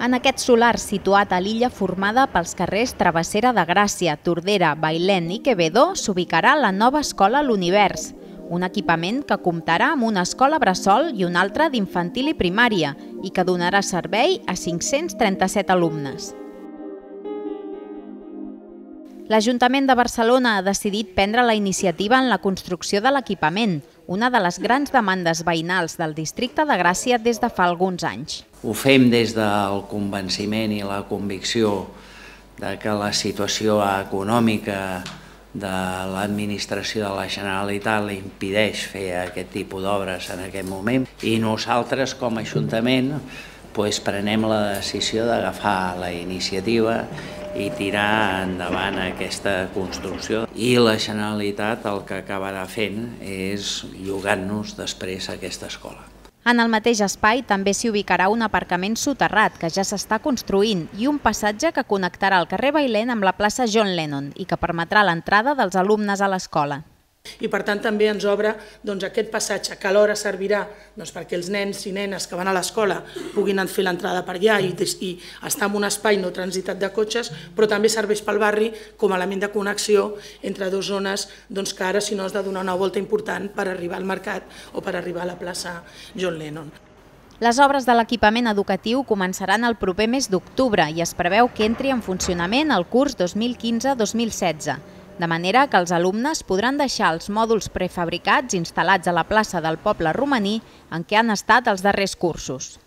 En aquest solar situat a l'illa formada pels carrers Travessera de Gràcia, Tordera, Bailén i Quevedo s'ubicarà la nova escola L'Univers, un equipament que comptarà amb una escola bressol i una altra d'infantil i primària i que donarà servei a 537 alumnes. L'Ajuntament de Barcelona ha decidit prendre la iniciativa en la construcció de l'equipament, una de les grans demandes veïnals del districte de Gràcia des de fa alguns anys. Ho fem des del convenciment i la convicció de que la situació econòmica de l'administració de la Generalitat li impedeix fer aquest tipus d'obres en aquest moment i nosaltres com a Ajuntament prenem la decisió d'agafar la iniciativa i tirar endavant aquesta construcció. I la Generalitat el que acabarà fent és llogant-nos després aquesta escola. En el mateix espai també s'hi ubicarà un aparcament soterrat que ja s'està construint i un passatge que connectarà el carrer Bailén amb la plaça John Lennon i que permetrà l'entrada dels alumnes a l'escola. I per tant també ens obre aquest passatge que alhora servirà perquè els nens i nenes que van a l'escola puguin fer l'entrada per allà i estar en un espai no transitat de cotxes, però també serveix pel barri com a element de connexió entre dues zones que ara si no has de donar una volta important per arribar al mercat o per arribar a la plaça John Lennon. Les obres de l'equipament educatiu començaran el proper mes d'octubre i es preveu que entri en funcionament el curs 2015-2016. De manera que els alumnes podran deixar els mòduls prefabricats instal·lats a la plaça del poble romaní en què han estat els darrers cursos.